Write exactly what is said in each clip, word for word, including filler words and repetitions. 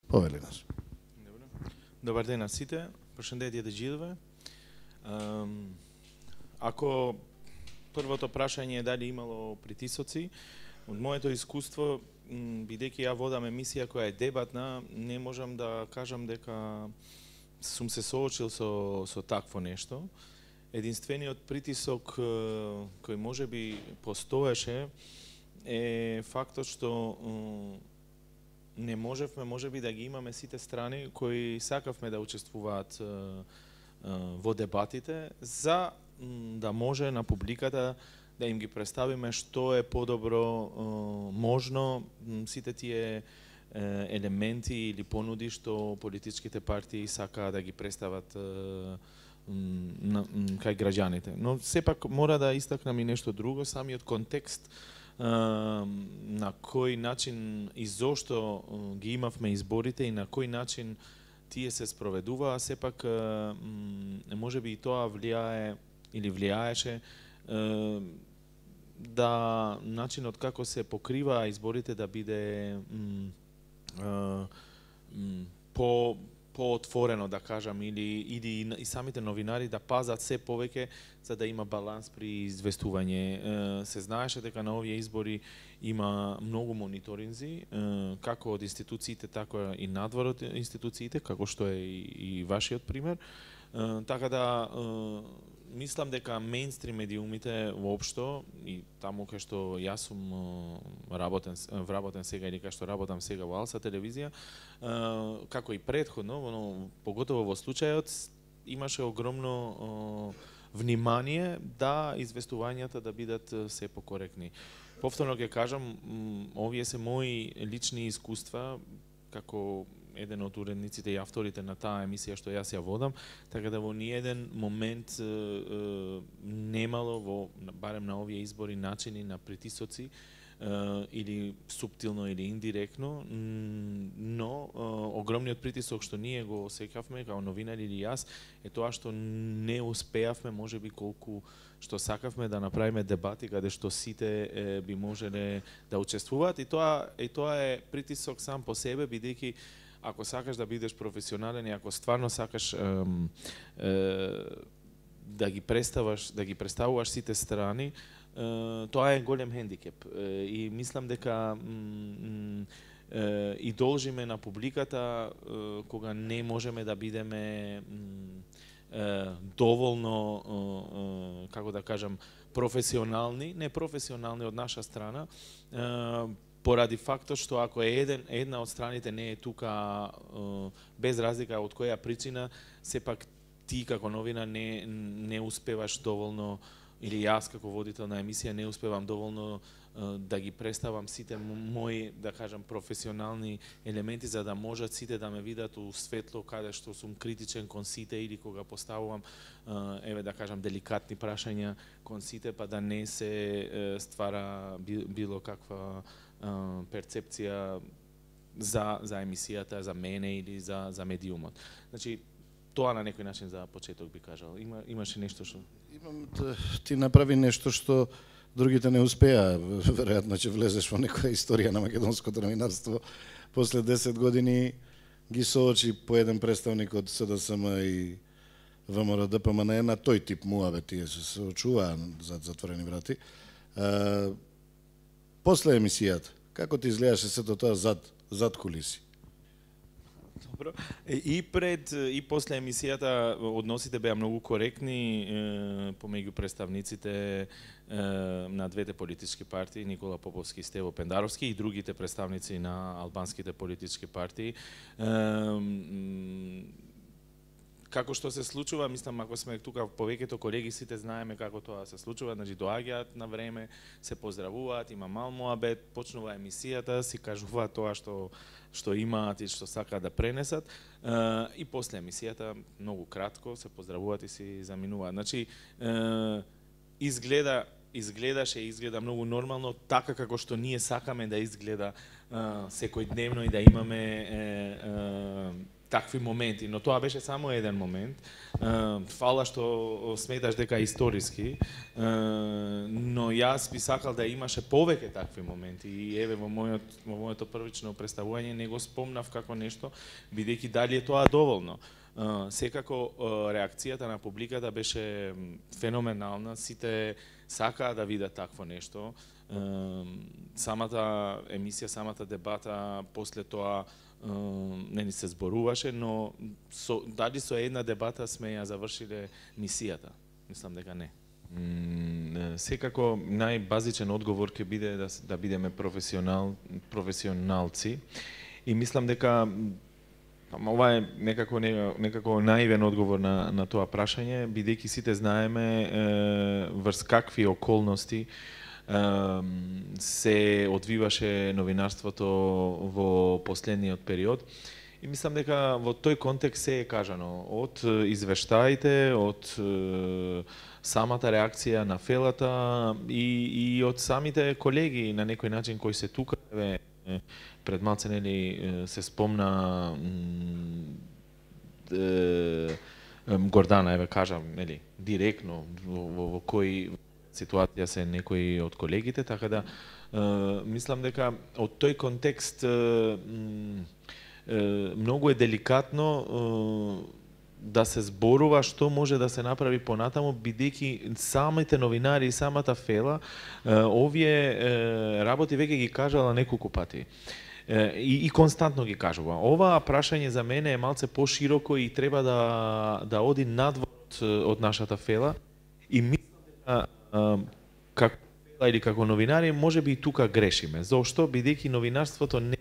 Повели нас. Добар ден на сите. Прошендетје да джидове. Ако првото прашање е дали имало притисоци, од моето искуство, бидејќи ја водам емисија која е дебатна, не можам да кажам дека сум се соочил со со такво нешто. Единствениот притисок кој можеби постоеше е фактот што не можевме можеби да ги имаме сите страни кои сакавме да учествуваат во дебатите за да може на публиката да им ги представиме што е подобро можно сите тие елементи или понуди што политичките партии сакаат да ги представат кај граѓаните. Но сепак мора да истакнам и нешто друго, самиот контекст на кој начин и зошто ги имавме изборите и на кој начин тие се спроведуваа, сепак можеби и тоа влијае или влијаеше да начинот како се покриваа изборите да биде по поотворено, да кажам, или или и самите новинари да пазат се повеќе за да има баланс при известување. Се знаеше дека на овие избори има многу мониторинзи, како од институциите, така и надвор од институциите, како што е и, и вашиот пример. Така да мислам дека мејнстрим медиумите воопшто и таму кај што јас сум работен вработен сега или кај што работам сега во Алса телевизија, како и претходно, но поготово во случајот имаше огромно внимание да известувањата да бидат се покоректни. Повторно ќе кажам, овие се мои лични искуства како еден од уредниците и авторите на таа емисија што јас ја водам, така да во ниеден момент е, е, немало во барем на овие избори начини на притисоци е, или суптилно или индиректно, но е, огромниот притисок што ние го осеќавме како новинари или јас е тоа што не успеавме можеби колку што сакавме да направиме дебати каде што сите е, би можеле да учествуваат и тоа и тоа е притисок сам по себе бидејќи ако сакаш да бидеш професионален и ако стварно сакаш е, е, да ги представаш, да ги представуваш сите страни, е, тоа е голем хендикеп. Е, и мислам дека е, и должиме на публиката е, кога не можеме да бидеме е, доволно, е, како да кажам, професионални, не професионални од наша страна, е, поради фактот што ако е еден, една од страните не е тука без разлика од која причина, сепак ти како новина не, не успеваш доволно, или јас како водител на емисија не успевам доволно да ги представам сите мои, да кажам, професионални елементи за да можат сите да ме видат у светло каде што сум критичен кон сите или кога поставувам еве да кажам деликатни прашања кон сите па да не се ствара било каква перцепција за за емисијата, за мене или за за медиумот. Значи тоа на некој начин за почеток би кажал. Има имаше нешто што имам ти направи нешто што другите не успеа, веројатно ќе влезеш во некоја историја на македонското новинарство. После десет години ги соочи по еден представник од СДСМ и ВМРО-ДПМНЕ на тој тип муаве, тие се соочуваа зад затворени врати. После емисијата, како ти изгледаше сето тоа зад, зад кулиси? Добро. И пред и после емисијата односите беа многу коректни е, помеѓу представниците е, на двете политички партии, Никола Поповски и Стево Пендаровски и другите представници на албанските политички партии. Е, Како што се случува, мислам, ако сме тука повеќето колеги, сите знаеме како тоа се случува, значи доаѓаат на време, се поздравуваат, има мал муабет, почнува емисијата, си кажуваат тоа што што имаат и што сакаат да пренесат, и после емисијата многу кратко се поздравуваат и си заминуваат. Значи изгледа изгледаше и изгледа многу нормално, така како што ние сакаме да изгледа секојдневно и да имаме такви моменти, но тоа беше само еден момент. Фала што сметаш дека е историски, но јас би сакал да имаше повеќе такви моменти и еве во мојот во моето првично представување не го спомнав како нешто, бидејќи дали е тоа доволно. Секако реакцијата на публиката беше феноменална, сите сакаа да видат такво нешто. Самата емисија, самата дебата после тоа не ни се зборуваше, но со, дали со една дебата сме ја завршиле мисијата? Мислам дека не. Mm, секако најбазичен одговор ќе биде да, да бидеме професионал, професионалци и мислам дека ова е некако некако наивен одговор на на тоа прашање, бидејќи сите знаеме е, врз какви околности се одвиваше новинарството во последниот период. И мислам дека во тој контекст се е кажано од извештаите, од самата реакција на фелата и, и од самите колеги на некој начин кои се тука. Пред малце нели се спомна Гордана, еве кажам, нели, директно во, во, во кој ситуација се некои од колегите, така да е, мислам дека од тој контекст е, е, многу е деликатно е, да се зборува што може да се направи понатаму, бидејќи самите новинари и самата фела е, овие е, работи веќе ги кажала неколку пати. И, и константно ги кажува. Ова прашање за мене е малце пошироко и треба да, да оди надвор од нашата фела и мислам дека како фела или како новинари можеби и тука грешиме. Зошто? Бидејќи новинарството не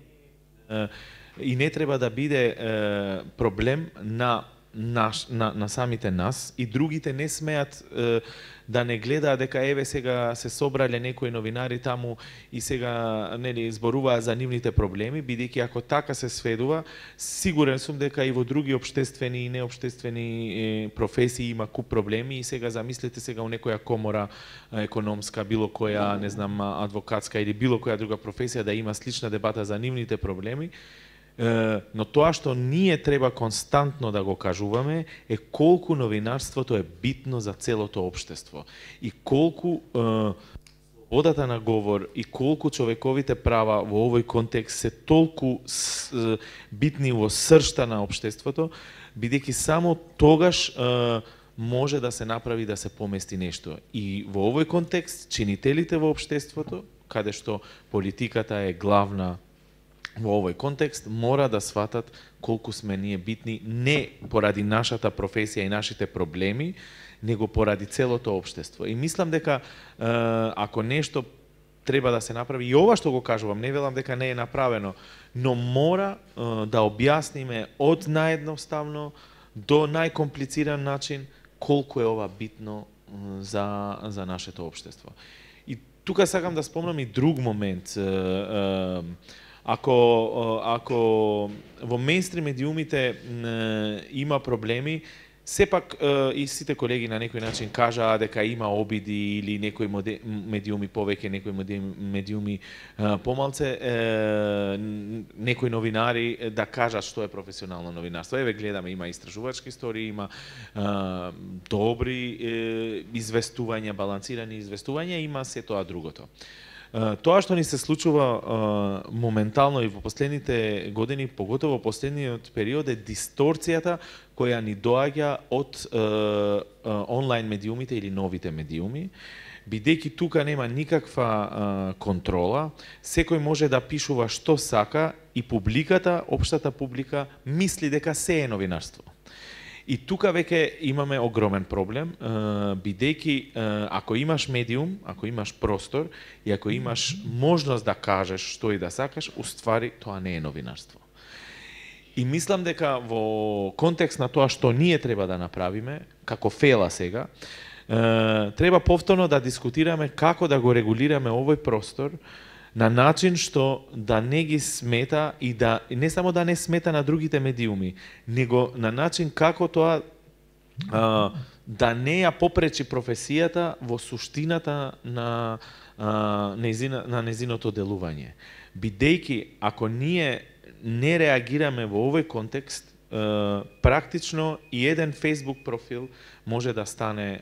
и не треба да биде проблем на Наш, на, на самите нас и другите не смеат е, да не гледаат дека еве сега се собрале некои новинари таму и сега нели зборуваат за нивните проблеми, бидејќи ако така се сведува, сигурен сум дека и во други општествени и неопштествени е, професии има куп проблеми и сега замислете сега у некоја комора економска, било која, не знам, адвокатска или било која друга професија да има слична дебата за нивните проблеми. Но тоа што ние треба константно да го кажуваме е колку новинарството е битно за целото општество и колку е, слободата на говор и колку човековите права во овој контекст се толку с, е, битни во сршта на општеството, бидејќи само тогаш е, може да се направи да се помести нешто. И во овој контекст чинителите во општеството, каде што политиката е главна во овој контекст, мора да сватат колку сме ние битни, не поради нашата професија и нашите проблеми, него поради целото општество. И мислам дека е, ако нешто треба да се направи, и ова што го кажувам, не велам дека не е направено, но мора е, да објасниме од наједноставно до најкомплициран начин колку е ова битно е, за, за нашето општество. И тука сакам да спомнам и друг момент. Е, е, Ако, ако во мејнстрим медиумите има проблеми, сепак и сите колеги на некој начин кажаа дека има обиди или некои медиуми повеќе, некои медиуми помалце, некои новинари да кажат што е професионално новинарство. Еве гледаме, има истражувачки истории, има добри известувања, балансирани известувања, има се тоа другото. Тоа што ни се случува моментално и во последните години, поготово во последниот период, е дисторцијата која ни доаѓа од онлайн медиумите или новите медиуми, бидејќи тука нема никаква контрола, секој може да пишува што сака и публиката, општата публика, мисли дека се е новинарство. И тука веќе имаме огромен проблем, бидејќи ако имаш медиум, ако имаш простор и ако имаш можност да кажеш што и да сакаш, уствари тоа не е новинарство. И мислам дека во контекст на тоа што ние треба да направиме, како фела сега, треба повторно да дискутираме како да го регулираме овој простор на начин што да не ги смета и да не само да не смета на другите медиуми, него на начин како тоа а, да не ја попречи професијата во суштината на а, незина, на незиното делување. Бидејќи ако ние не реагираме во овој контекст, практично и еден Facebook профил може да стане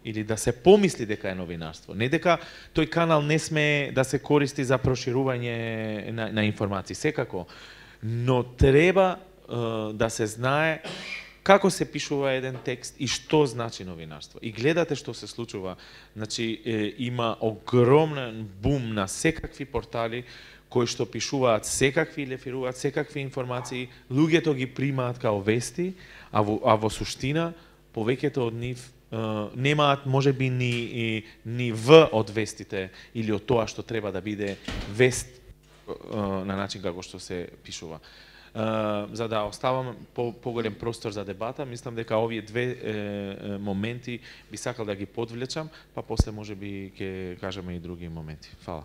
или да се помисли дека е новинарство. Не дека тој канал не сме да се користи за проширување на, на информации, секако, но треба да се знае како се пишува еден текст и што значи новинарство. И гледате што се случува. Значи, е, има огромен бум на секакви портали кои што пишуваат секакви или реферуваат секакви информации, луѓето ги примаат као вести, а во, а во суштина повеќето од нив е, немаат можеби ни, ни В од вестите или од тоа што треба да биде вест е, на начин како што се пишува. Uh, за да оставам по поголем простор за дебата, мислам дека овие две е, моменти би сакал да ги подвлечам, па после може би ќе кажеме и други моменти. Фала.